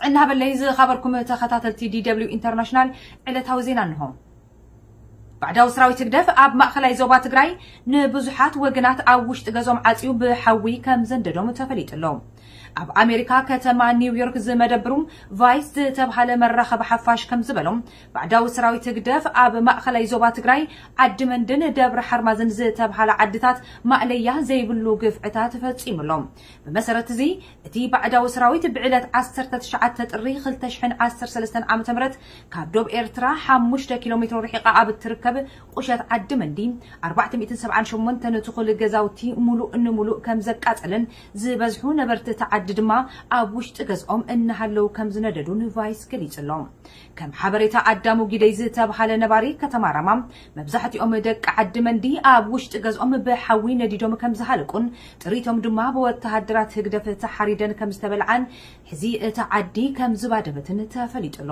እናበለይ ዝኸበርኩም ተኸታተልቲ ዲ ደብሊው ኢንተርናሽናል ዕለታዊ ዜና እንሆ። ባዕዳዊ ሰራዊት ህግደፍ ኣብ ማእኸላይ ዞባ ትግራይ ንብዙሓት ወገናት ኣብ ውሽጢ ገዞም ዓፅዩ ብሓዊ ከም ዘንደዶም ተፈሊጡ ኣሎ። ኣብ ኣሜሪካ ከተማ ኒውዮርክ ዝመደብሩ ቫይስ ዝተብሃለ መራኸቢ ሓፋሽ ከም ዝበሎም፣ ባዕዳዊ ሰራዊት ህግደፍ ኣብ ማእኸላይ ዞባ ትግራይ ዓዲ መንድን ደብረ ሓርማዝን ዝተብሃላ ዓድታት ማእለያ ዘይብሉ ግፍዕታት ፈፂሙ ኣሎ። ብመሰረት እዚ እቲ ባዕዳዊ ሰራዊት ብዕለት ዓሰርተ ትሽዓተ ጥሪ ክልተ ሽሕን ዓሰርተ ሰለስተን ዓመተ ምህረት ካብ ዶብ ኤርትራ ሓሙሽተ ኪሎ ሜትሮ ርሒቓ ኣብ እትርከብ ቁሸት ዓዲ መንዲ ኣርባዕተ ሚእትን ሰብዓን ሸሞንተን ትኹል ገዛውቲ ሙሉእ ንሙሉእ ከም ዘቃጸለን ዝበዝሑ ነበርቲ እቲ ዓዲ ድማ ኣብ ውሽጢ ገዝኦም እናሃለዉ ከም ዝነደዱን ቫይስ ገሊጹ ኣሎ። ከም ሓበሬታ ኣዳሙ ጊደይ ዝተብሃለ ነባሪ ከተማ ራማ፣ መብዛሕትኦም ደቂ ዓዲ መንዲ ኣብ ውሽጢ ገዝኦም ብሓዊ ነዲዶም ከም ዝሃለቁን ጥሪቶም ድማ ብወተሃደራት ህግደፍ ተሓሪደን ከም ዝተበልዓን ሕዚ እቲ ዓዲ ከም ዝባደመትን ተፈሊጡ ኣሎ።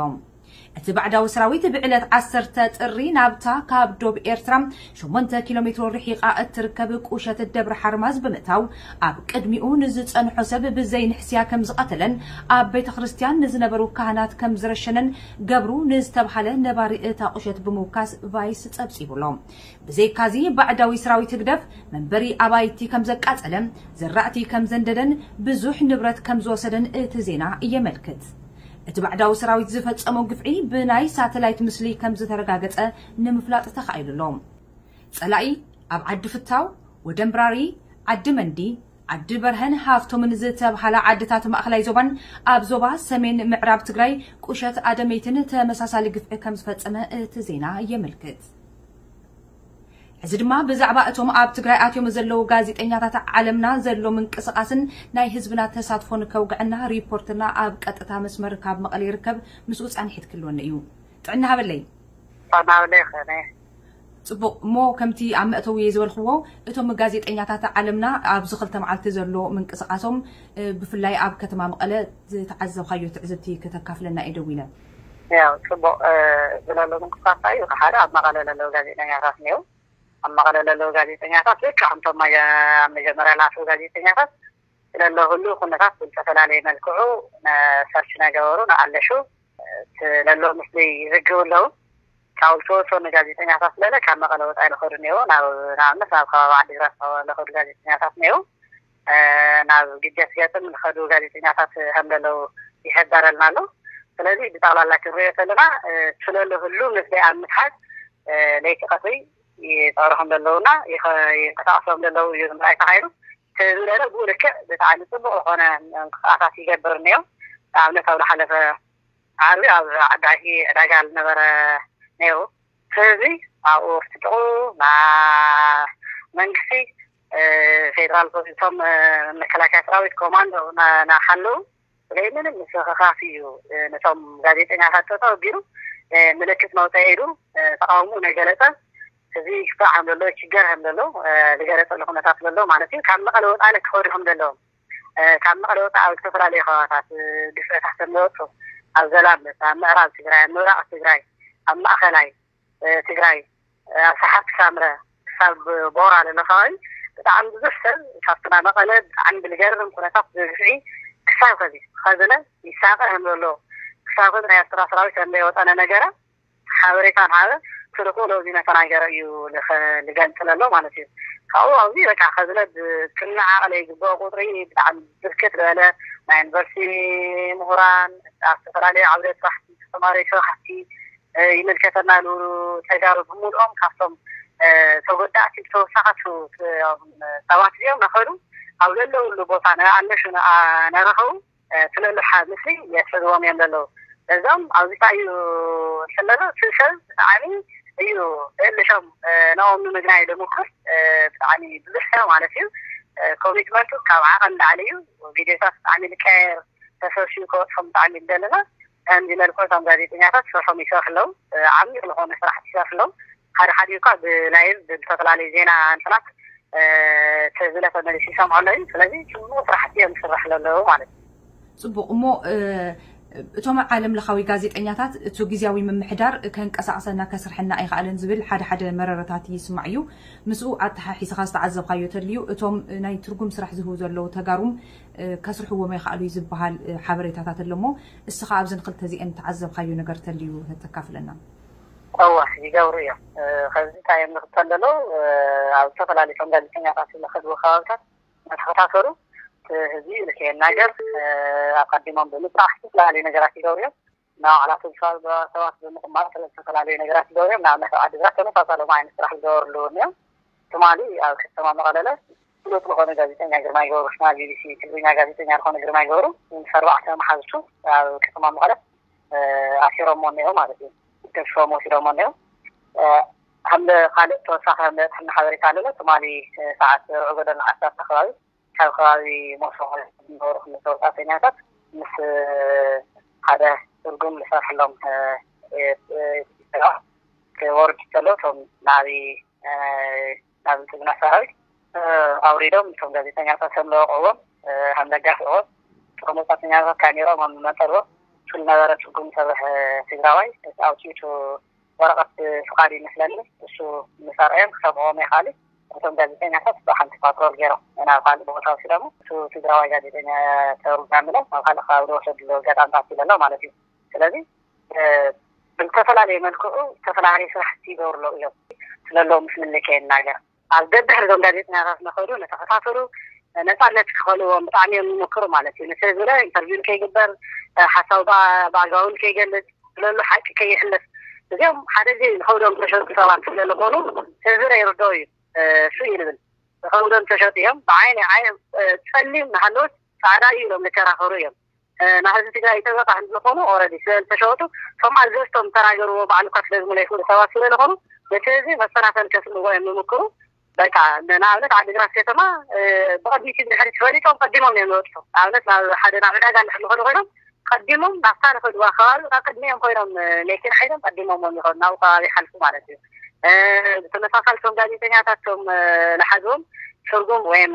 እቲ ባዕዳዊ ሰራዊት ብዕለት ዓሰርተ ጥሪ ናብታ ካብ ዶብ ኤርትራ ሸሞንተ ኪሎ ሜትሮ ርሒቓ እትርከብ ቁሸት ደብረ ሓርማዝ ብምእታው፣ ኣብ ቅድሚኡ ንዝጸንሖ ሰብ ብዘይ ንሕስያ ከም ዝቐተለን ኣብ ቤተ ክርስቲያን ንዝነበሩ ካህናት ከም ዝረሸነን ገብሩ ንዝተብሃለ ነባሪ እታ ቁሸት ብምውካስ ቫይስ ጸብጺቡ ኣሎ። ብዘይካዚ ባዕዳዊ ሰራዊት ህግደፍ መንበሪ ኣባይቲ ከም ዘቃጸለ፣ ዘራእቲ ከም ዘንደደን ብዙሕ ንብረት ከም ዝወሰደን እቲ ዜና የመልክት። እቲ ባዕዳዊ ሰራዊት ዝፈጸሞ ግፍዒ ብናይ ሳተላይት ምስሊ ከም ዝተረጋገጸ ንምፍላጥ ተኻኢሉ ኣሎ። ጸላኢ ኣብ ዓዲ ፍታው፣ ወደምብራሪ፣ ዓዲ መንዲ፣ ዓዲ በርሀን ሃፍቶምን ዝተብሃላ ዓድታት ማእኸላይ ዞባን ኣብ ዞባ ሰሜን ምዕራብ ትግራይ ቁሸት ኣደመይትን ተመሳሳሊ ግፍዒ ከም ዝፈጸመ እቲ ዜና የመልክት። ሕዚ ድማ ብዛዕባ እቶም ኣብ ትግራይ ኣትዮም ዘለዉ ጋዜጠኛታት ዓለምና ዘሎ ምንቅስቓስን ናይ ህዝብና ተሳትፎን ከውግዐና ሪፖርተርና ኣብ ቀጥታ መስመር ካብ መቐለ ይርከብ። ምስኡ ጻንሒት ክህልወኒ እዩ። ጥዕና ሃበለይ። ጥዕና ሃበለይ ከነ። ጽቡቕ እሞ፣ ከምቲ ኣብ መእተዊ ዝበልክዎ፣ እቶም ጋዜጠኛታት ዓለምና ኣብዚ ክልተ መዓልቲ ዘሎ ምንቅስቓሶም፣ እ፣ ብፍላይ ኣብ ከተማ መቐለ ዝተዓዘብካዮ ትዕዝብቲ ከተካፍለና እየ ደዊለ። ያው ጽቡቕ፣ እ፣ ዝለሎ ምንቅስቃስ እዩ። ሓደ ኣብ መቐለ ለለዉ ጋዜጠኛታት እኒው። ኣብ መቐለ ለለዉ ጋዜጠኛታት ልክዕ ከምቶም መጀ-፣ ኣብ መጀመርያ ለኣተዉ ጋዜጠኛታት ስለሎ ህሉ ኩነታት ብዝተፈላለየ መልክዑ ነ-፣ ሰርች ነገበሩ፣ ንኣለሹ፣ እ፣ ስለሎ ምስሊ ይዝግቡ ኣለዉ። ካብ ዝተወሰኑ ጋዜጠኛታት ስለለ ካብ መቐለ ወፃኢ ለኸዱ እኒው። ናብ፣ ንኣብነት ናብ ከባቢ ዓዲግራት ለኸዱ ጋዜጠኛታት እኒው። እ፣ ናብ ግጀት ገጥም ዝኸዱ ጋዜጠኛታት ከም ዘለዉ ይሕበረልና ኣሎ። ስለዚ ብጠቕላላ ክንሪኦ ከለና፣ እ፣ ስለሎ ህሉ ምስለ ኣብ ምትሓዝ፣ እ፣ ለይቲ ቀትሪ ይፀሩ ከም ዘለዉና ይኸ-፣ ይንቀሳቐሱ ከም ዘለዉ እዩ ንምርኣይ ተኻኢሉ። ስለዚ ብኡ ልክዕ ብጣዕሚ ፅቡቕ ዝኾነ ምንቅስቃሳት ይገብር እኒኦ። ንኣብነት ኣብ ዝሓለፈ ዓርቢ ኣብ ዓዲ ዓጊ ዕዳጋ ዝነበረ ነይሩ። ስለዚ ኣብኡ ክትጥቑ ና-፣ መንግስቲ፣ እ፣ ፌደራል ፖሊስ፣ እቶም፣ እ፣ መከላከያ ሰራዊት፣ ኮማንዶ ና-፣ ናሓለዉ ብዘይ ምንም ምስኽኻፍ እዩ፣ እ፣ ነቶም ጋዜጠኛታት ጠጠው ኣቢሉ፣ እ፣ ምልክት መውፅኢ ኢሉ፣ እ፣ ተቃውሞ ነገለፀ። እዚ ክፍታሕ ከም ዘለዎ፣ ችገር ከም ዘለዎ፣ እ፣ ዝገለፀሉ ኩነታት ዘሎ ማለት እዩ። ካብ መቐለ ወፃኢ ክኸዱ ከም ዘለዎም፣ እ፣ ካብ መቐለ ወፃኢ ኣብ ዝተፈላለዩ ከባቢታት፣ እ፣ ግፍዕታት ከም ዝወፁ፣ ኣብ ዘላምበት፣ ኣብ ምዕራብ ትግራይ፣ ኣብ ምብራቕ ትግራይ፣ ኣብ ማእኸላይ፣ እ፣ ትግራይ፣ እ፣ ኣብ ሰሓት ሳምረ ክሳብ ቦራ ዘሎ ከባቢ ብጣዕሚ ብዙሕ ሰብ ካብቲ ናብ መቐለ ብጣዕሚ ብዝገርም ኩነታት ብግፍዒ ክሳብ ከዚ ከዝነ ይሳቐ ከም ዘሎ፣ ክሳብ ከዚ ናይ ኤርትራ ሰራዊት ከም ዘይወጠነ ነገረ ሓበሬታ ንሃበ ትልቁ ለዚ ነተናገረ እዩ ልኸ-፣ ልገልጽ ለሎ ማለት እዩ። ካብኡ ኣብዚ በቃ ከዝነ ብክናዓቐለ ይግበኦ ቁጥሪ ብጣዕሚ ብርክት ዝበለ ናይ ዩኒቨርሲቲ ምሁራን፣ ኣብ ዝተፈላለዩ ዓውደ ስራሕ ዝተማረዩ ስራሕቲ፣ እ፣ ይምልከተና ዝብሉ ተጋሩ ብምልኦም ካብቶም፣ እ፣ ተጎዳእቲ ብተወሳኺ ቱ-፣ ቱ-፣ ሰባት እዚኦም ነኸዱ ኣብ ዘለውሉ ቦታ ንኣለሹ ንኣ-፣ ነረኸቡ፣ እ፣ ስለሉ ሓ-፣ ምስሊ የስዕብዎም እዮም ዘለዉ። እዞም ኣብዚ እንታይ እዩ እንተለሎ እቲ ሰብ ብጣዕሚ እዩ እልሾም፣ እ፣ ንኦም ንምግናይ ልምኩር፣ እ፣ ብጣዕሚ ብዙሕ ሰብ ማለት እዩ። እ፣ ኮሚትመንቱ ካብ ዓቐን ላዕሊ እዩ። ቪድዮታት ብጣዕሚ ልቀየር ተሰብሲቡ ክወፅኦም ብጣዕሚ ይደለና። ከምዚ መልክዑ እቶም ጋዜጠኛታት ስርሖም ይሰርሑ ኣለዉ። እ፣ ዓሚቕ ዝኾነ ስራሕቲ ይሰርሑ ኣለዉ። ሓደ ሓደ እኳ ብላይቭ ብዝተፈላለዩ ዜና እንትናት፣ እ፣ ተዝለ ተመሊሱ ይሰምዑ ኣለዉ። ስለዚ ጽቡቕ ስራሕቲ እዮም ዝስራሕ ዘለዉ ማለት እዩ። ጽቡቕ። እሞ፣ እ፣ እቶም ዓለም ለኻዊ ጋዜጠኛታት እቲ ግዜያዊ ምምሕዳር ከንቀሳቕሰና ከስርሐና ኣይኸኣለን ዝብል ሓደ ሓደ መረረታት ይስማዕ እዩ። ምስኡ ኣተሓሒዝኻ ዝተዓዘብካዮ ተልዩ፣ እቶም ናይ ትርጉም ስራሕ ዝህቡ ዘለዉ ተጋሩም ከስርሕዎም ኣይኸኣሉ እዩ ዝበሃል ሓበሬታታት ኣለሞ፣ እስኻ ኣብዘን ክልተ እዚአን ተዓዘብካዮ ነገር ተልዩ ተካፍለና። እወ፣ ይገብሩ እዮም። ከምዚ እንታይ እዮም ንክተለለው ኣብ ዝተፈላለዩ ቶም ጋዜጠኛታት ዝኸድዎ ከባብታት እናተኸታተሉ ህዝቢ ልክየናገር ኣቀዲሞም ብምፅራሕ ዝተፈላለዩ ነገራት ይገብሩ እዮም። ንባዕላቶም ከባቢ ሰባት ብምቕማጥ ዝተፈላለዩ ነገራት ይገብሩ እዮም። ንኣብነት ኣብ ዓዲግራት ተመሳሳሎም ዓይነት ስራሕ ዝገበርሉ እዮም። ትማሊ ኣብ ከተማ መቐለለ ፍሉጥ ዝኾነ ጋዜጠኛ ግርማይ ገብሩ፣ ናይ ቢቢሲ ትግርኛ ጋዜጠኛ ዝኾነ ግርማይ ገብሩ ምስ ኣርባዕተ መሓዝቱ ኣብ ከተማ መቐለ ኣሲሮሞ እኒኦ ማለት እዩ። ገዝፎም ወሲዶሞ እኒኦ። ከም ካልእ ተወሳኺ መብፅሕና ሓበሬታ ኣለሎ። ትማሊ ሰዓት ርዑ ጎደና ዓሰርተ ከባቢ ካብ ከባቢ ሞሶ ዝነበሩ ክልተ ወፃእተኛታት ምስ ሓደ ትርጉም ዝሰርሕሎም ክወርዱ ከሎ እቶም ናብይ ናብ ብልፅግና ሰራዊት ኣውሪዶም እቶም ጋዜጠኛታት ከም ለወቅዕዎም ከም ለጋፍዕዎም እቶም ወፃእተኛታት ካሜሮም ኣብ መጠርቦ ዝነበረ ትርጉም ዝሰርሕ ትግራዋይ እቲ ኣውፅኢቱ ወረቐት ፍቃድ ይመስለኒ እሱ ምሰርዐዮም ክሰምዕዎም ይኽኣል። እቶም ጋዜጠኛታት ብሓንቲ ፓትሮል ገይሮም ናብ ካልእ ቦታ ወሲዶም እሱ ትግራዋይ ጋዜጠኛ ተርጉም ብሎም ናብ ካልእ ከባቢ ዝወሰድሉ ኣጋጣሚታት ይለሎ ማለት እዩ። ስለዚ ብዝተፈላለየ መልክዑ ዝተፈላለዩ ስራሕቲ ይገብሩ ኣለዉ እዮም ስለለዉ ምስ ምልከ ይናገር ኣብ ደድሕሪ እዞም ጋዜጠኛታት ነኸዱ ነተኸታተሉ ነፃነት ክኸልዎም ብጣዕሚ እዮም ዝሞክሩ ማለት እዩ። ንሰብ ዝበለ ኢንተርቪው ከይግበር ሓሳቡ ብኣግባቡ ከይገልፅ ስለሉ ሓቂ ከይሕለፍ እዚኦም ሓደ ግዜ ንኸውዶም ተሸጡ ሰባት ስለዝኾኑ ህዝቢ ይርድኦ እዩ። እሱ እዩ ንብል ንኸውዶም ተሸጡ እዮም። ብዓይኒ ዓይ ፀሊም ንሃለወት ፃዕዳ እዩ ኢሎም ዝከራኸሩ እዮም። ናብ ህዝቢ ትግራይ ጠበቃ እንዝኾኑ ኦረዲ ስለ ዝተሸወጡ እቶም ኣዘዝቶም ተናገርዎ ባዕሉ እኳ ስለ ዝምለ ይኽእሉ ሰባት ስለ ዝኾኑ ነቲ ህዝቢ መሰናፈል ከስእንዎ እዮም ዝምክሩ። በቃ ንኣብነት ዓዲግራት ከተማ ብቐድሚት ብድሕሪት ፈሊጦም ቀዲሞም እዮም ዝወጥሑ። ንኣብነት ናብ ሓደ ናብ ዕዳጋ እንድሕር ዝኸዱ ኮይኖም ቀዲሞም ናብታ ንኸድዋ ከባቢ ካብ ቅድሚኦም ኮይኖም መኪና ሓይሎም ቀዲሞም እዮም ይኸዱ ናብኡ ከባቢ ይሓልፉ ማለት እዩ። ብተመሳሳሊ እቶም ጋዜጠኛታት እቶም ንሓዝዎም ትርጉም ወይም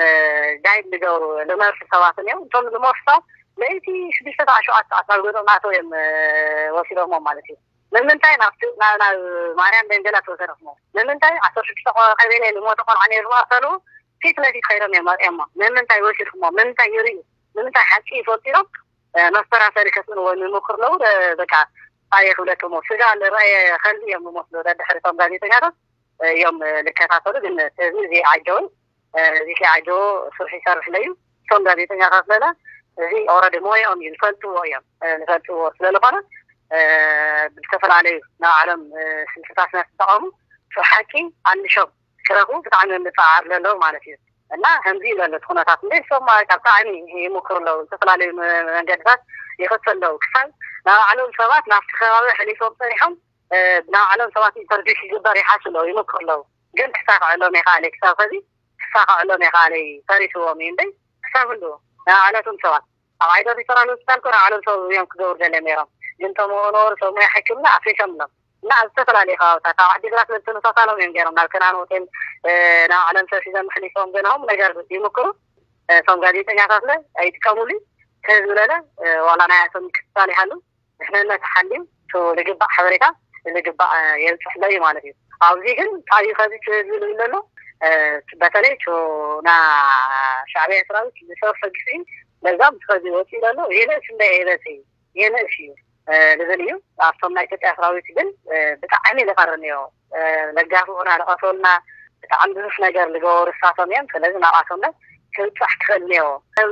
ጋይድ ዝገብሩ ዝመርሑ ሰባትን እዮም። እቶም ዝመርሑ ሰባት ለይቲ ሽዱሽተ ሰዓት ሸውዓተ ሰዓት ናብ ገዝኦም ኣተው እዮም ወሲዶሞም ማለት እዩ። ንምንታይ ናብቲ ናብ ናብ ማርያም ደንገላ ተወሰደኹሞ ንምንታይ ዓሰርተ ሽዱሽተ ቀበሌ ዝሞተ ቆልዓ ነይሩ ዝባእሰሉ ፊት ለፊት ከይዶም እዮም መፅኦሞ ንምንታይ ወሲድኩሞ ንምንታይ ይርእዩ ንምንታይ ሓቂ ይፈልጡ ኢሎም መስተራሰሪ ከስእንዎ ንምክር ለው በቃ ኣየ ክብለክሞ ስጋ ዝረኣየ ከልቢ እዮም ዝመስሉ ደድሕሪቶም ጋዜጠኛታት እዮም ዝከታተሉ ግን ህዝቢ እዚ ዓጀውን እዚ ከይዓጀዎ ስርሑ ይሰርሕ ለዩ እቶም ጋዜጠኛታት ለለ እዚ ኦረዲ ሞያኦም እዩ ዝፈልጥዎ እዮም ዝፈልጥዎ ስለዝኾነ ብዝተፈላለዩ ናይ ዓለም ስልትታት እናተጠቐሙ እቲ ሓቂ ኣንሾም ክረኽቡ ብጣዕሚ እዮም ዝፀዓር ዘለዉ ማለት እዩ እና ከምዚ እዩ ዘሎ እቲ ኩነታት እንደ ሰማ ካብ ብጣዕሚ ይምክሩ ኣለዉ ዝተፈላለዩ መንገድታት ይኸቱ ኣለዉ ክሳብ ናይ ባዕሎም ሰባት ናብቲ ከባቢ ሕሊፎም ፀኒሖም ናይ ባዕሎም ሰባት ኢንተርቪው ክግበር ይሓሱ ኣለዉ ይምክሩ ኣለዉ ግን ክሳኽዐሎም ይኽኣለ ክሳብ ከዚ ክሳኽዐሎም ይኽኣለ ተሪፍዎም እዩ እምበይ ክሳብ ህልዉ ናይ ባዕለቶም ሰባት ኣብ ዓይደር ሪፈራል ሆስፒታል ኮ ናይ ባዕሎም ሰብ እዮም ክገብሩ ደልዮም ነይሮም ግን ተምኡ ነበሩ ሰብ ሙያ ሕክምና ኣፍሪሶም ኣለዉ እና ኣብ ዝተፈላለዩ ከባብታት ኣብ ዓዲግራት በተመሳሳሎም እዮም ገይሮም ናብ ከናን ሆቴል ናይ ባዕሎም ሰብ ሒዞም ሕሊፎም ገለሆም ነገር ይምክሩ እቶም ጋዜጠኛታት ለ ኣይጥቀሙሉ ከህዝቢ ለለ ዋላ ናይ ኣቶም ምክትታል ይሃሉ ድሕንነት ሓልዩ ዝግባእ ሓበሬታ ዝግባእ የብፅሕ ለ እዩ ማለት እዩ ኣብዚ ግን ታዩ ከዚ ህዝቢ ዝብል ዘሎ በተለይ ና ሻዕብያ ሰራዊት ዝሰርሖ ግፍዒ በዛም ከዚ ወፂኡ ዘሎ ይንእስ እንደ የበፅ ይንእስ እዩ ዝብል እዩ ኣብቶም ናይ ኢትዮጵያ ሰራዊት ግን ብጣዕሚ ዝቐርንዮ ለጋፍኡና ዝቐተሉና ብጣዕሚ ብዙሕ ነገር ዝገበሩ እሳቶም እዮም ስለዚ ናብኣቶም ክብፃሕ ክኽእል እኒኦ ሰብ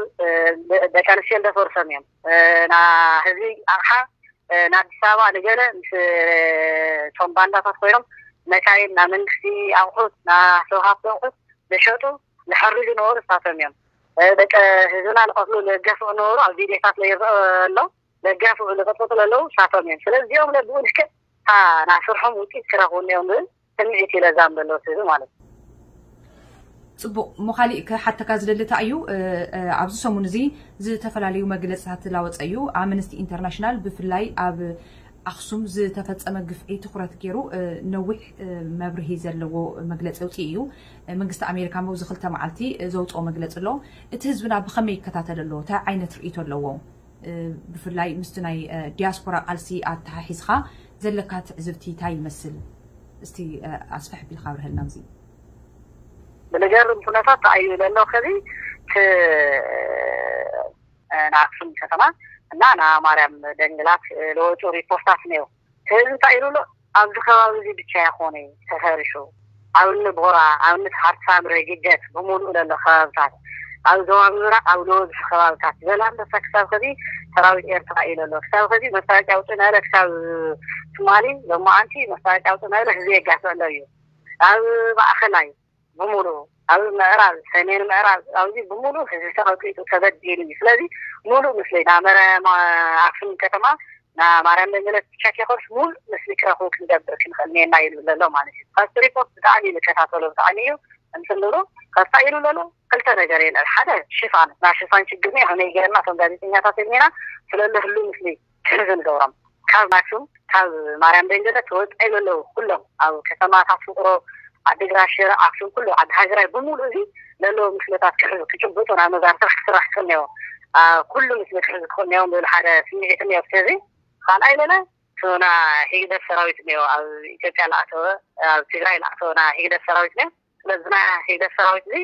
ደቂ ኣንስትዮ ዝደፈሩ ሰብ እዮም ና ህዝቢ ኣቕሓ ንኣዲስ ኣበባ ንገለ ምስ እቶም ባንዳታት ኮይኖም መካይን ና መንግስቲ ኣቑሑት ና ሰብ ሃፍቲ ኣቑሑት ዝሸጡ ዝሐርዩ ዝነበሩ እሳቶም እዮም ደቂ ህዝብና ዝቐትሉ ዝገፍዑ ነበሩ ኣብ ቪድዮታት ይረአ ኣሎ ዘጋፍዑ ዝቐጥቅጡ ዘለዉ እሳቶም እዮም ስለዚ እዚኦም ብኡ ልክዕ እታ ናይ ስርሖም ውፅኢት ክረኽቡ እኒኦም ዝብል ስምዒት እዩ ለዛም ዘለዎ ህዝቢ ማለት እዩ ፅቡቕ ሞ ካሊእ ክሓተካ ዝደሊ እንታይ እዩ ኣብዚ ሰሙን እዚ ዝተፈላለዩ መግለፅታት ላወፀ እዩ ኣምነስቲ ኢንተርናሽናል ብፍላይ ኣብ ኣክሱም ዝተፈፀመ ግፍዒ ትኩረት ገይሩ ነዊሕ መብርሂ ዘለዎ መግለፂ ኣውፅኡ እዩ መንግስቲ ኣሜሪካ ኣብዚ ክልተ መዓልቲ ዘውፅኦ መግለፂ ኣሎ እቲ ህዝብና ብኸመይ ይከታተል ኣሎ እንታይ ዓይነት ርእይቶ ኣለዎ ብፍላይ ምስቲ ናይ ዲያስፖራ ቃልሲ ኣተሓሒዝካ ዘለካ ትዕዝብቲ እንታይ ይመስል? እስቲ ኣስፍሕ ቢልካ ኣብርሀልና። እዚ ብልገርም ኩነታት ተኣዩ ዘሎ ከዚ ንኣክሱም ከተማ እና ንማርያም ደንግላት ለወፁ ሪፖርታት ነው። ህዝቢ እንታይ ኢሉ ኣሎ? ኣብዚ ከባቢ እዚ ብቻ ይኾነ ተፈሪሱ፣ ኣብ እኒ ቦራ፣ ኣብ እኒ ሓርሳምረ፣ ግደት ብምሉእ ዘሎ ከባብታት፣ ኣብ ዞባ ምብራቕ ኣብ ዝበዝሑ ከባብታት ዘላንበሳ ክሳብ ከዚ ሰራዊት ኤርትራ ኢሉ ኣሎ። ክሳብ ከዚ መሳለጫ ውፅእ ናለ ክሳብ ትማሊ ሎማዓንቲ መሳለጫ ውፅእ ናለ ህዝቢ የጋፍዕ ኣሎ እዩ። ኣብ ማእኸላይ ብምሉ፣ ኣብ ምዕራብ፣ ሰሜን ምዕራብ ኣብዚ ብምሉ ህዝቢ ተቐጥቂጡ ተበዲሉ እዩ። ስለዚ ሙሉእ ምስለይ ናብ መረ ኣክሱም ከተማ ናብ ማርያም ደንገለት ብቻ ከይኮንስ ሙሉእ ምስሊ ክረኽቡ ክንገብር ክንኽእል ኔና ይብል ዘሎ ማለት እዩ። ካብቲ ሪፖርት ብጣዕሚ እዩ ዝከታተሎ ብጣዕሚ እዩ እንትን ዝብሎ ከፋ ኢሉ ዘሎ። ክልተ ነገር የለን። ሓደ ሽፋን ናይ ሽፋን ችግር ነው። ከመይ ገርና እቶም ጋዜጠኛታት የኔና ስለለ ህሉ ምስሊ ክሕዝ ንገብሮም ካብ ኣክሱም ካብ ማርያም ደንገለት ወፃኢ ዘለዉ ኩሎም ኣብ ከተማታት ፍቅሮ ዓዲግራት ሽረ ኣክሱም ኩሉ ዓዲ ሃገራይ ብምሉእ እዚ ዘለዉ ምስልታት ክሕዙ ክጭብጡ ናብ መዛርትራሕ ክስራሕ ክኽእል ነዎ። ኩሉ ምስል ክሕዙ ክኽእል ነዎም ዝብል ሓደ ስምዒት እኒኦ። ስለዚ ካልኣይ ለለ ና ሂግደፍ ሰራዊት እኒኦ ኣብ ኢትዮጵያ ለኣተወ ኣብ ትግራይ ለኣተወ ና ሂግደፍ ሰራዊት እኒኦ። ስለዚ ና ሂግደፍ ሰራዊት እዚ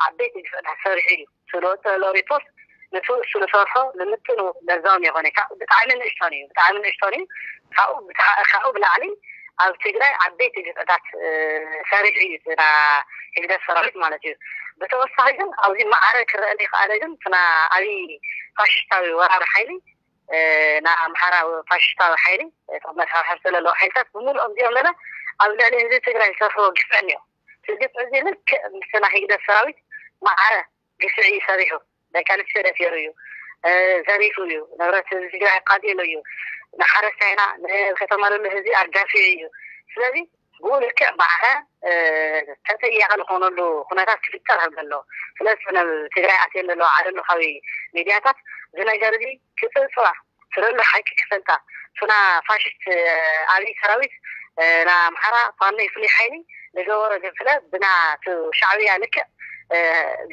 ዓበይቲ ግፍዕታት ሰሪሑ እዩ ስለወፀ ዘሎ ሪፖርት ንሱ እሱ ዝሰርሖ ንምጥኑ ለዛውም የኾነ ብጣዕሚ ንእሽቶን እዩ ብጣዕሚ ንእሽቶን እዩ። ካብኡ ብላዕሊ ኣብ ትግራይ ዓበይቲ ግፍዕታት ሰሪሑ እዩ ና ሂግደፍ ሰራዊት ማለት እዩ። ብተወሳኺ ግን ኣብዚ ማዕረ ክረአ ዘይከኣለ ግን ና ኣብይ ፋሽስታዊ ወራሪ ሓይሊ ና ኣምሓራ ፋሽስታዊ ሓይሊ መሳርሕቲ ዘለዎ ሓይልታት ብምሉኦም እዚኦም ለለ ኣብ ልዕሊ ህዝቢ ትግራይ ዝሰርሕዎ ግፍዕን እዮም። እዚ ግፍዕ እዚ ልክዕ ምስ ና ሂግደፍ ሰራዊት ማዕረ ግፍዒ እዩ ሰሪሑ። ደቂ ኣንስትዮ ደፊሩ እዩ ዘሪፉ እዩ ንብረት ህዝቢ ትግራይ ኣቃጢሉ እዩ። ንሓረስታይና ንከተማ ዘሎ ህዝቢ ኣጋፊዑ እዩ። ስለዚ ብኡ ልክዕ ማዕረ ተጠያቂ ዝኾነሉ ኩነታት ክፍጠር ከም ዘሎ ስለዚ ናብ ትግራይ ኣትየን ዘለዋ ዓለም ለኻዊ ሚድያታት እዚ ነገር እዚ ክፅብፅባ ስለሉ ሓቂ ክፈልጣ ቱና ፋሽስት ኣብይ ሰራዊት ና ኣምሓራ ፋኖ ፍሉይ ሓይሊ ዝገበሮ ግፍለ ብና ሻዕብያ ልክዕ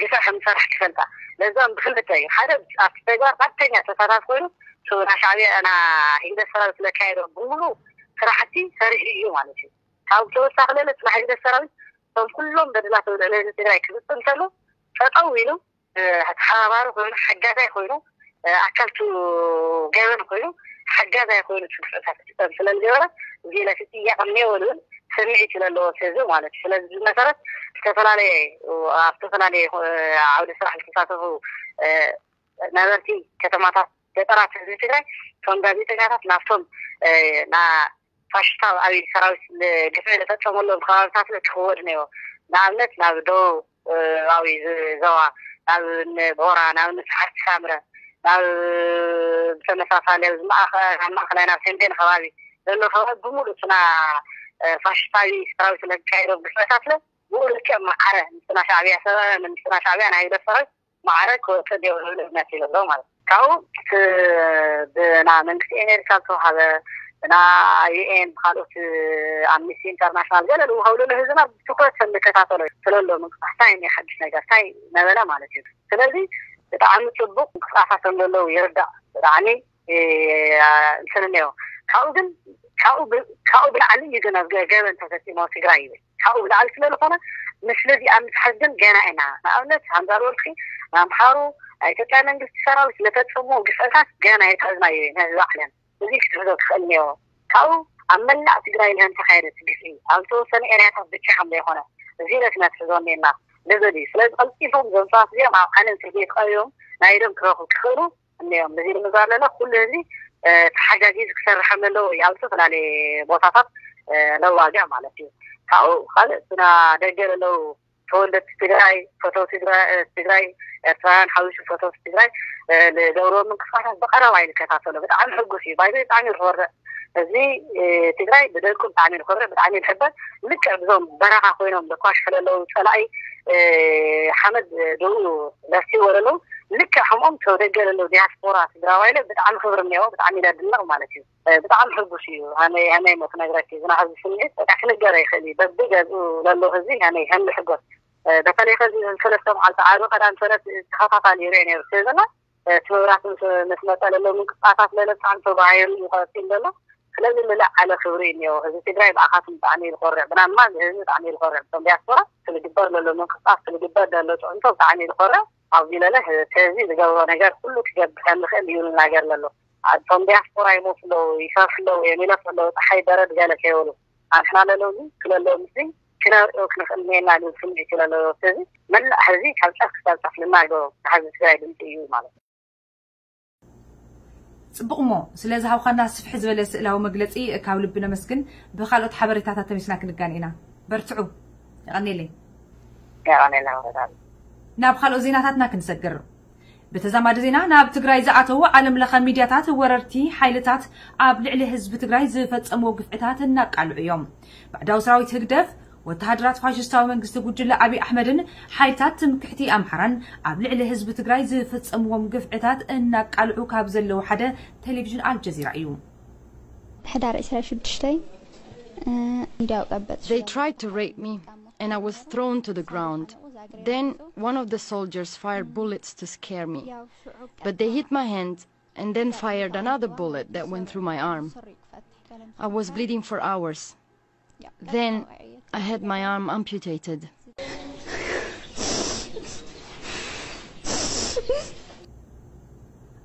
ግፍዕ ከም ዝሰርሕ ክፈልጣ ለዛም ብክልተ እዩ። ሓደ ኣብቲ ተግባር ቀጥተኛ ተሳታፍ ኮይኑ ና ሻዕብያ ና ሂግደፍ ሰራዊት ለካየዶ ብምሉ ስራሕቲ ሰሪሑ እዩ ማለት እዩ። ካብ ተወሳኺ ለለ ና ሂግደፍ ሰራዊት እቶም ኩሎም በደላት ኣብ ልዕሊ ህዝቢ ትግራይ ክፍፅም ከሎ ጠጠው ኢሉ ተሓባባሪ ኮይኑ ሓጋዛይ ኮይኑ ኣካልቱ ገበን ኮይኑ ሓጋዛይ ኮይኑ ትግፍዕታት ክፍፀም ስለዝገበረ ዜለ ክጥያቕ እኒኦ ዝብል ስምዒት ስለለዎ ህዝቢ ማለት እዩ። ስለዚ መሰረት ዝተፈላለየ ኣብ ዝተፈላለየ ዓውዲ ስራሕ ዝተሳተፉ ነበርቲ ከተማታት ገጠራት ህዝቢ ትግራይ እቶም ጋዜጠኛታት ናብቶም ና ፋሽስታዊ ኣብይ ሰራዊት ግፍዒ ዝፈፀመሎም ከባብታት ክኽወድ ነይዎ። ንኣብነት ናብ ደቡብ ኣዊ ዞባ ናብ ቦራ ናብ ንስሓት ሳምረ ናብ ብተመሳሳሊ ኣብ ማእኸላይ ናብ ተንቤን ከባቢ ዘሎ ከባቢ ብምሉእ ስና ፋሽስታዊ ሰራዊት ለካየዶም ግፍዕታት ለ ብኡ ልክዕ ማዕረ ምስና ሻዕብያ ሰበ ምስና ሻዕብያ ናይ ህግደፍ ሰራዊት ማዕረ ክወፅእ ዲዮ ዝብል እምነት ይብሎ ማለት ካብኡ ብና መንግስቲ ኤሜሪካ ዝተዋሃበ ብና ዩኤን ብካልኦት ኣምኒስቲ ኢንተርናሽናል ገለ ዝውሃብሉ ንህዝብና ብትኩረት ከም ዝከታተሎ ስለሎ ምንቅስቃስ እንታይ ናይ ሓድሽ ነገር እንታይ ነበለ ማለት እዩ። ስለዚ ብጣዕሚ ፅቡቅ ምንቅስቃሳት ከም ዘለዉ ይርዳእ ብጣዕሚ እንትን እኒኦ ካብኡ ግን ካብኡ ብላዕሊ እዩ ግን ኣብ ገበን ተፈፂሞ ትግራይ ይብል ካብኡ ብላዕሊ ስለዝኾነ ምስለዚ ኣብ ምትሓዝ ግን ገና ኢና ንኣብነት ሃምዛር ወርቂ ንኣምሓሩ ናይ ኢትዮጵያ መንግስቲ ሰራዊት ስለፈፀምዎ ግፍዕታት ገና የተሕዝናዮ እዩ ነዚ ዓለም እዚ ክትሕዞ ክኽእል እኒኦ ካብኡ ኣብ መላእ ትግራይ ንህም ተካየደ ትግፍዒ ኣብ ዝተወሰነ ኤርያታት ብቻ ከም ዘይኮነ እዚ ለት ነትሕዞ እኒና ንብል እዩ ስለዚ ቀልጢፎም ዘምፅዋት እዚኦም ኣብ ዓለም ፍርዲ ተቐቢቦም ናይ ኢዶም ክረኽቡ ክኽእሉ እኒኦም እዚ ንምግባር ለና ኩሉ ህዝቢ ተሓጋጊዙ ክሰርሐም ኣለዎ እዩ ኣብ ዝተፈላለየ ቦታታት ነዋግዕ ማለት እዩ። ካብኡ ካልእ ስና ደገ ዘለዉ ተወለድቲ ትግራይ ፈተውቲ ትግራይ ኤርትራውያን ሓዊሱ ፈተውቲ ትግራይ ዝገብርዎ ምንቅስቃሳት ብቀረባ ይንከታተሎ ብጣዕሚ ሕጉስ እዩ ባይዘ ብጣዕሚ ዝኮርዕ እዚ ትግራይ ብደቁ ብጣዕሚ ዝኮርዕ ብጣዕሚ ዝሕበር ልክዕ ብዞም በረኻ ኮይኖም ዘኳሽሑ ዘለዉ ፀላኢ ሓመድ ደኡ ለሲዎ ዘለዉ ልክዕ ከምኦም ተወደገ ዘለዉ ዲያስፖራ ትግራዋይ ለ ብጣዕሚ ክብሪ እኒኦ ብጣዕሚ ለድነቕ ማለት እዩ። ብጣዕሚ ሕጉስ እዩ። ሃመይ ሃመይ ሞ ክነግረኪ ዝና ህዝቢ ስምዒት በቃ ክንገር ኣይኽእል እዩ። በቢ ገዝኡ ለሎ ህዝቢ ሃመይ ከም ዝሕጎስ በተለይ ከዚ ሰለስተ መዓልቲ ዓርቢ ቀዳም ሰለት ተኸታታሊ ይሪኦ ነይሩ ስለ ዘሎ እቲ መብራት ምስ መፀ ለሎ ምንቅስቃሳት ለለ ብጣዕሚ ተባሂሩ ይቀፅል ዘሎ። ስለዚ ልዕለ ዓለ ክብሪ እኒኦ። ህዝቢ ትግራይ ብኣኻትም ብጣዕሚ እዩ ዝኮርዕ፣ ብናማ ህዝቢ ብጣዕሚ እዩ ዝኮርዕ። እቶም ዲያስፖራ ክልግበር ለሎ ምንቅስቃስ ክልግበር ለሎ ፅዕንቶ ብጣዕሚ እዩ ዝኮርዕ። ኣብዚ ለለ ህዝቢ ዝገብሮ ነገር ኩሉ ክገብር ከም ዝኽእል እዩ ዝናገር ለሎ። እቶም ዲያስፖራ ይሞቱ ኣለዉ፣ ይሰርሑ ኣለዉ፣ እዮም ይለፉ ኣለዉ፣ ፀሓይ በረድ ገለ ከይበሉ ኣንሕና ለለውዚ ክለለውምሲ ክነርእዮ ክንኽእል ኔና ዝብል ስምዒት እዩ ለለዎ። ስለዚ መላእ ህዝቢ ካብ ጫፍ ክሳብ ጫፍ ልናገሮ ንሓዚ ትግራይ ድምፂ እዩ ማለት እዩ። ጽቡቕ እሞ ስለ ዝሃብኻና ስፍሕ ዝበለ ስእላዊ መግለጺ ካብ ልቢ ነመስግን። ብኻልኦት ሓበሬታታት ተመሊስና ክንገናኝ ኢና። በርትዑ። የቐንየለይ። የቐንየልና ወረዳ ናብ ካልኦት ዜናታትና ክንሰግር። ብተዛማዲ ዜና ናብ ትግራይ ዝኣተዉ ዓለም ለኸ ሚድያታት ወረርቲ ሓይልታት ኣብ ልዕሊ ህዝቢ ትግራይ ዝፈጸምዎ ግፍዕታት እናቃልዑ እዮም። ባዕዳዊ ሰራዊት ህግደፍ ወተሃደራት ፋሽስታዊ መንግስቲ ጉጅለ ኣብይ ኣሕመድን ሓይልታት ትምክሕቲ ኣምሓራን ኣብ ልዕሊ ህዝቢ ትግራይ ዝፈጸምዎም ግፍዕታት እናቃልዑ ካብ ዘለዉ ሓደ ቴሌቪዥን ኣልጀዚራ እዩ። ሕዳር ዕስራ ሽዱሽተ እንዲያው ቀበጥ They tried to rape me and I was thrown to the ground. Then one of the soldiers fired bullets to scare me. But they hit my hand and then fired another bullet that went through my arm. I was bleeding for hours. Then I had my arm amputated.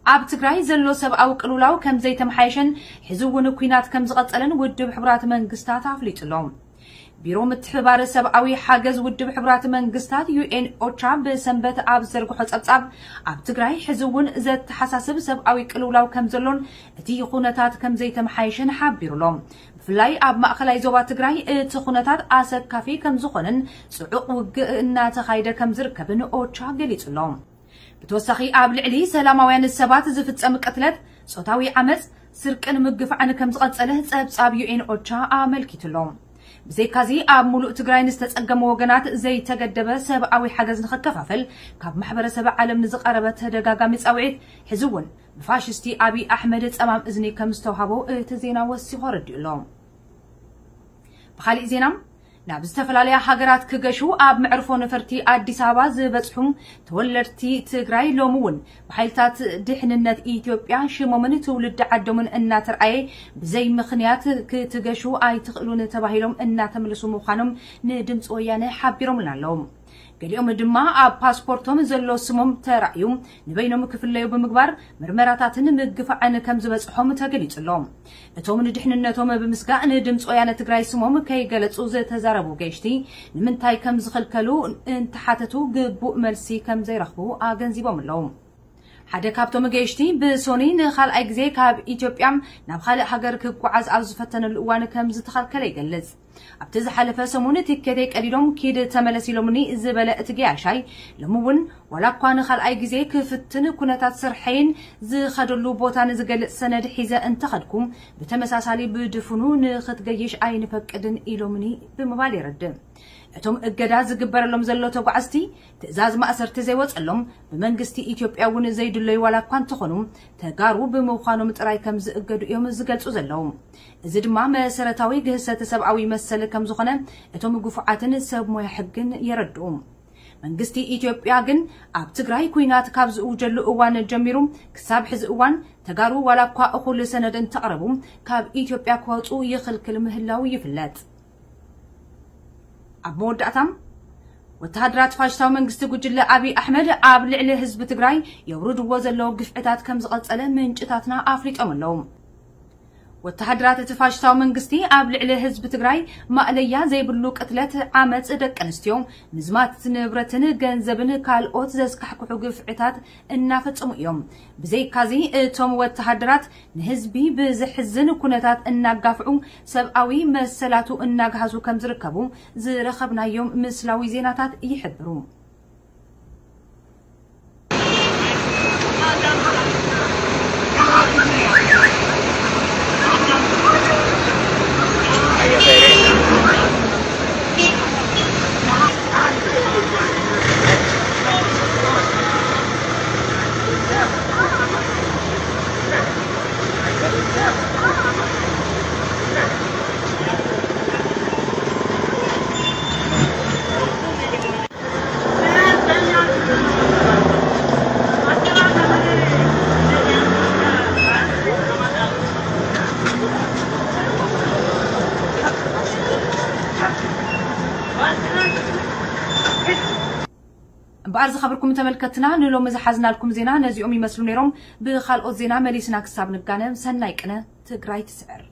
ኣብ ትግራይ ዘሎ ሰብኣዊ ቅልውላው ከም ዘይተመሓየሸን ሕዚ እውን ኲናት ከም ዝቐጸለን ውድብ ሕቡራት መንግስታት ኣፍሊጡ ኣሎ። ቢሮ ምትሕብባር ሰብኣዊ ሓገዝ ውድብ ሕቡራት መንግስታት ዩ ኤን ኦቻ ብሰንበት ኣብ ዘርግሖ ጸብጻብ ኣብ ትግራይ ሕዚ እውን ዘተሓሳስብ ሰብኣዊ ቅልውላው ከም ዘሎን እቲ ኩነታት ከም ዘይተመሓየሸን ሓቢሩ ኣሎ። ብፍላይ ኣብ ማእኸላይ ዞባ ትግራይ እቲ ኩነታት ኣሰካፊ ከም ዝኾነን ጽዑቕ ውግእ እናተኻየደ ከም ዝርከብን ኦቻ ገሊጹ ኣሎ። ብተወሳኺ ኣብ ልዕሊ ሰላማውያን ሰባት ዝፍጸም ቅትለት፣ ጾታዊ ዓመጽ፣ ስርቅን ምግፋዕን ከም ዝቐጸለ ጸብጻብ ዩ ኤን ኦቻ ኣመልኪቱ ኣሎ። ብዘይካዚ ኣብ ሙሉእ ትግራይ ንዝተጸገሙ ወገናት ዘይተገደበ ሰብኣዊ ሓገዝ ንኽከፋፈል ካብ ማሕበረሰብ ዓለም ንዝቐረበ ተደጋጋሚ ጻውዒት ሕዚ እውን ብፋሽስቲ ኣብይ ኣሕመድ ጸማም እዝኒ ከም ዝተውሃቦ እቲ ዜና ወሲኹ ኣረዲኡ ኣሎ። ብኻሊእ ዜና ናብ ዝተፈላለያ ሃገራት ክገሹ ኣብ መዕርፎ ነፈርቲ ኣዲስ ኣበባ ዝበፅሑ ተወለድቲ ትግራይ ሎሚ እውን ብሓይልታት ድሕንነት ኢትዮጵያ ሽሞምን ትውልዲ ዓዶምን እናተርኣየ ብዘይ ምኽንያት ክትገሹ ኣይትኽእሉን ተባሂሎም እናተመለሱ ምዃኖም ንድምፂ ወያነ ሓቢሮምልና ኣለዉ። ገሊኦም ድማ ኣብ ፓስፖርቶም ዘሎ ስሞም ተራእዩ ንበይኖም ክፍለዩ ብምግባር ምርመራታትን ምግፋዕን ከም ዝበፅሖም ተገሊፁ ኣሎ። እቶም ንድሕንነቶም ብምስጋእ ንድምፂ ወያነ ትግራይ ስሞም ከይገለፁ ዝተዛረቡ ገይሽቲ ንምንታይ ከም ዝኸልከሉ እንተሓተቱ ግቡእ መልሲ ከም ዘይረኽቡ ኣገንዚቦም ኣለዉ። ሓደ ካብቶም ገይሽቲ ብሶኒ ንኻልኣይ ግዜ ካብ ኢትዮጵያ ናብ ካልእ ሃገር ክጓዓዝ ኣብ ዝፈተነሉ እዋን ከም ዝተኸልከለ ይገልጽ። ኣብቲ ዝሓለፈ ሰሙን ትኬተይ ቀዲዶም ኪድ ተመለስ ኢሎምኒ ዝበለ እቲ ገያሻይ ሎሚ እውን ዋላ እኳ ንኻልኣይ ግዜ ክፍትን ኩነታት ስርሐይን ዝኸደሉ ቦታን ዝገልጽ ሰነድ ሒዘ እንተኸድኩ ብተመሳሳሊ ብድፉኑ ንኽትገይሽ ኣይንፈቅድን ኢሎምኒ ብምባል የረድእ። እቶም እገዳ ዝግበረሎም ዘሎ ተጓዓዝቲ ትእዛዝ ማእሰርቲ ዘይወፀሎም ብመንግስቲ ኢትዮጵያ እውን ዘይድለዩ ዋላ እኳ እንተኾኑ ተጋሩ ብምዃኖም ጥራይ ከም ዝእገዱ እዮም ዝገልፁ ዘለዉ። እዚ ድማ መሰረታዊ ግህሰት ሰብኣዊ መሰል ከም ዝኾነ እቶም ግፉዓትን ሰብ ሞያ ሕግን የረድኡ። መንግስቲ ኢትዮጵያ ግን ኣብ ትግራይ ኲናት ካብ ዝእውጀሉ እዋን ጀሚሩ ክሳብ ሕዚ እዋን ተጋሩ ዋላ እኳ እኹል ሰነድ እንተቕረቡ ካብ ኢትዮጵያ ክወፁ ይኽልክል ምህላው ይፍለጥ። ኣብ መወዳእታ ወተሃደራት ፋሽስታዊ መንግስቲ ጉጅለ ኣብይ ኣሕመድ ኣብ ልዕሊ ህዝቢ ትግራይ የውርድዎ ዘለዉ ግፍዕታት ከም ዝቐጸለ ምንጭታትና ኣፍሊጦም ኣለዉ። ወተሃደራት እቲ ፋሽስታዊ መንግስቲ ኣብ ልዕሊ ህዝቢ ትግራይ ማእለያ ዘይብሉ ቅትለት፣ ዓመጽ፣ ደቂ ኣንስትዮ ምዝማት ንብረትን ገንዘብን ካልኦት ዘስካሕክሑ ግፍዕታት እናፈጸሙ እዮም። ብዘይካዚ እቶም ወተሃደራት ንህዝቢ ብዘሕዝን ኩነታት እናጋፍዑ ሰብኣዊ መሰላቱ እናግሃሱ ከም ዝርከቡ ዝረኸብናዮም ምስላዊ ዜናታት ይሕብሩ። እምበኣር ዝኸበርኩም ተመልከትና ንሎሚ ዝሓዝናልኩም ዜና ነዚኦም ይመስሉ ነይሮም። ብኻልኦት ዜና መሊስና ክሳብ ንጋነ ሰናይ ቅነ። ትግራይ ትስዕር።